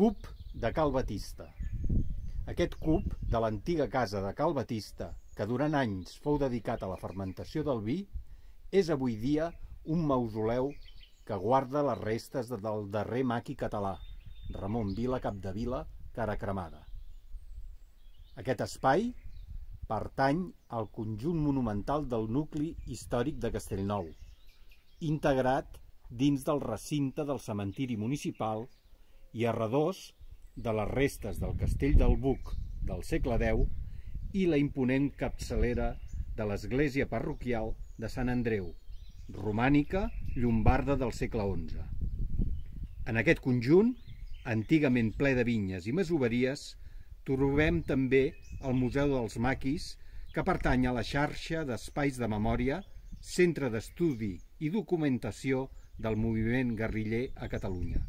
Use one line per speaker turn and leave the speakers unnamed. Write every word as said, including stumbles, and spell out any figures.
Cup de Cal Batista. Aquest cup de l'antiga casa de Cal Batista, que durant anys fou dedicat a la fermentació del vi, és avui dia un mausoleu que guarda les restes del darrer maqui català, Ramon Vila Capdevila, cara cremada. Aquest espai pertany al conjunt monumental del nucli històric de Castellnou, integrat dins del recinte del cementiri municipal i a redós de les restes del castell del Buc del segle deu i la imponent capçalera de l'església parroquial de Sant Andreu, romànica llombarda del segle onze. En aquest conjunt, antigament ple de vinyes i masoveries, trobem també el Museu dels Maquis, que pertany a la xarxa d'espais de memòria, centre d'estudi i documentació del moviment guerriller a Catalunya.